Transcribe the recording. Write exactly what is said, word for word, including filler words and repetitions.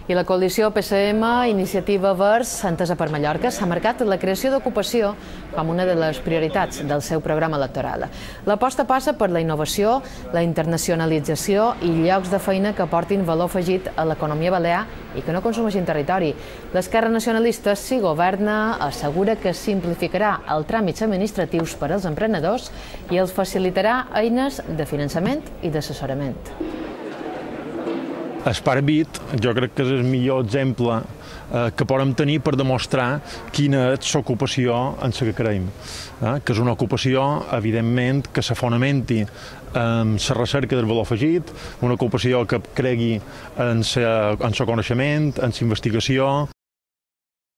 I la coalició P S M Iniciativa Verds Entesa per Mallorca s'ha marcat la creació d'ocupació com una de les prioritats del seu programa electoral. L'aposta passa per la innovació, la internacionalització i llocs de feina que aportin valor afegit a l'economia balear i que no consumeixin territori. L'esquerra nacionalista, si governa, assegura que simplificarà els tràmits administratius per als emprenedors i els facilitarà eines de finançament i d'assessorament. Esparbit, jo crec que és el millor exemple que podem tenir per demostrar quina és l'ocupació en la que creiem. Que és una ocupació, evidentment, que s'fonamenti en la recerca del valor afegit, una ocupació que cregui en el coneixement, en la investigació,